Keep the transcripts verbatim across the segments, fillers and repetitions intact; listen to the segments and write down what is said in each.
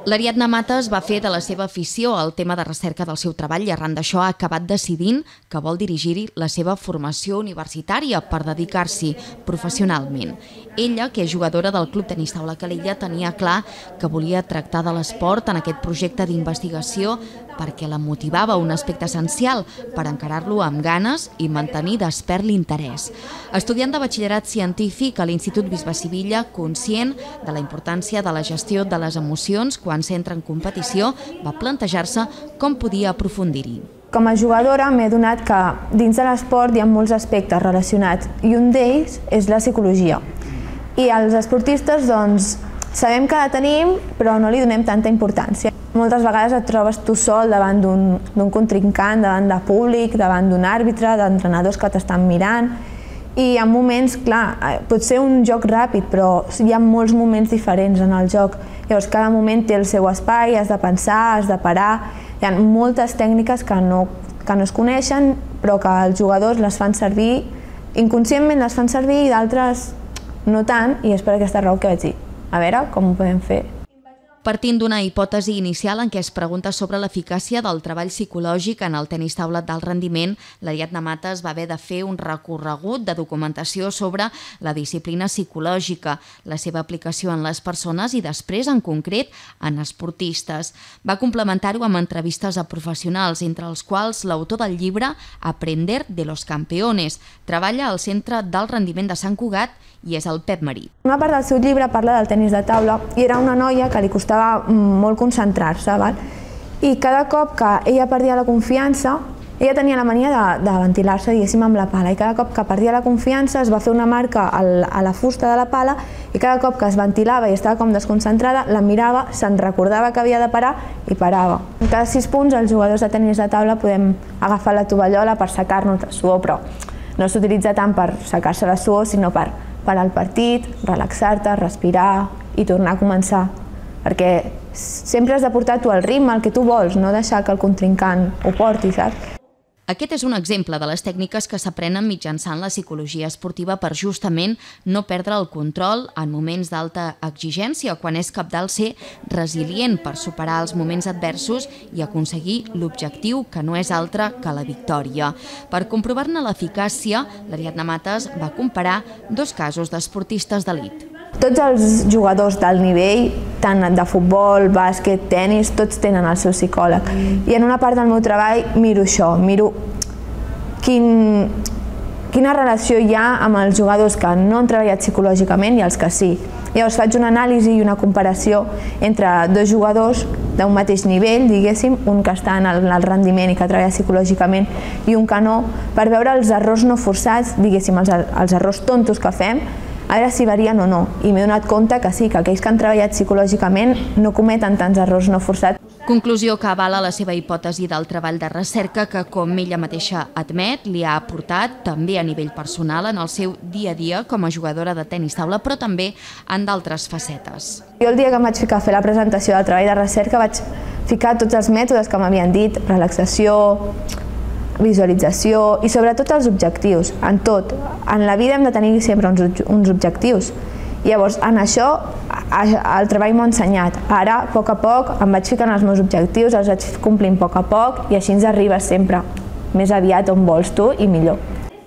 L'Ariadna Matas va fer de la seva afició el tema de recerca del seu treball i arran d'això ha acabat decidint que vol dirigir la seva formació universitària per dedicar-s'hi professionalment. Ella, que és jugadora del Club Tenis Taula Calella, tenia clar que volia tractar de l'esport en aquest projecte d'investigació perquè la motivava un aspecte essencial per encarar-lo amb ganes i mantenir despert l'interès. Estudiant de batxillerat científic a l'Institut Bisbe Sivilla, conscient de la importància de la gestió de les emocions quan s'entra en competició, va plantejar-se com podia aprofundir-hi. Com a jugadora m'he adonat que dins de l'esport hi ha molts aspectes relacionats i un d'ells és la psicologia. I els esportistes doncs, sabem que la tenim però no li donem tanta importància. Moltes vegades et trobes tu sol davant d'un contrincant, davant de públic, davant d'un àrbitre, d'entrenadors que t'estan mirant i en moments, clar, pot ser un joc ràpid però hi ha molts moments diferents en el joc. Llavors cada moment té el seu espai, has de pensar, has de parar. Hi ha moltes tècniques que no, que no es coneixen però que els jugadors les fan servir, inconscientment les fan servir i d'altres no tant, i és per aquesta raó que vaig dir, a veure com ho podem fer. Partint d'una hipòtesi inicial en què es pregunta sobre l'eficàcia del treball psicològic en el tenis taula d'alt rendiment, l'Ariadna Matas va haver de fer un recorregut de documentació sobre la disciplina psicològica, la seva aplicació en les persones i després, en concret, en esportistes. Va complementar-ho amb entrevistes a professionals, entre els quals l'autor del llibre Aprender de los campeones. Treballa al Centre d'Alt Rendiment de Sant Cugat i és el Pep Marí. Una part del seu llibre parla del tenis de taula i era una noia que li costava molt concentrar-se, i cada cop que ella perdia la confiança, ella tenia la mania de, de ventilar-se, diguéssim, amb la pala, i cada cop que perdia la confiança es va fer una marca al, a la fusta de la pala i cada cop que es ventilava i estava com desconcentrada, la mirava, se'n recordava que havia de parar i parava. En cada sis punts els jugadors de tenis de taula podem agafar la tovallola per secar-nos la suor, però no s'utilitza tant per secar-se la suor, sinó per parar el partit, relaxar-te, respirar i tornar a començar. Perquè sempre has de portar tu el ritme, el que tu vols, no deixar que el contrincant ho porti, saps? Aquest és un exemple de les tècniques que s'aprenen mitjançant la psicologia esportiva per justament no perdre el control en moments d'alta exigència, quan és cabdal ser resilient per superar els moments adversos i aconseguir l'objectiu que no és altre que la victòria. Per comprovar-ne l'eficàcia, l'Ariadna Matas va comparar dos casos d'esportistes d'elit. Tots els jugadors d'alt nivell, tant de futbol, bàsquet, tenis, tots tenen el seu psicòleg. I en una part del meu treball miro això, miro quin, quina relació hi ha amb els jugadors que no han treballat psicològicament i els que sí. Llavors faig una anàlisi i una comparació entre dos jugadors d'un mateix nivell, diguéssim, un que està en el rendiment i que treballa psicològicament i un que no, per veure els errors no forçats, diguéssim, els, els errors tontos que fem, a veure si varien o no, i m'he donat compte que sí, que aquells que han treballat psicològicament no cometen tants errors no forçats. Conclusió que avala la seva hipòtesi del treball de recerca que, com ella mateixa admet, li ha aportat també a nivell personal en el seu dia a dia com a jugadora de tenis taula, però també en d'altres facetes. Jo el dia que em vaig ficar a fer la presentació del treball de recerca vaig ficar tots els mètodes que m'havien dit, relaxació, visualització i sobretot els objectius, en tot. En la vida hem de tenir sempre uns, uns objectius. Llavors, en això, el treball m'ha ensenyat. Ara, a poc a poc, em vaig ficant els meus objectius, els vaig complint a poc a poc i així ens arribes sempre més aviat on vols tu i millor.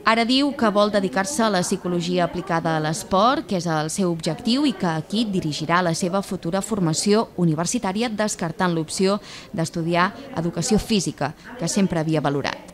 Ara diu que vol dedicar-se a la psicologia aplicada a l'esport, que és el seu objectiu i que aquí dirigirà la seva futura formació universitària descartant l'opció d'estudiar educació física, que sempre havia valorat.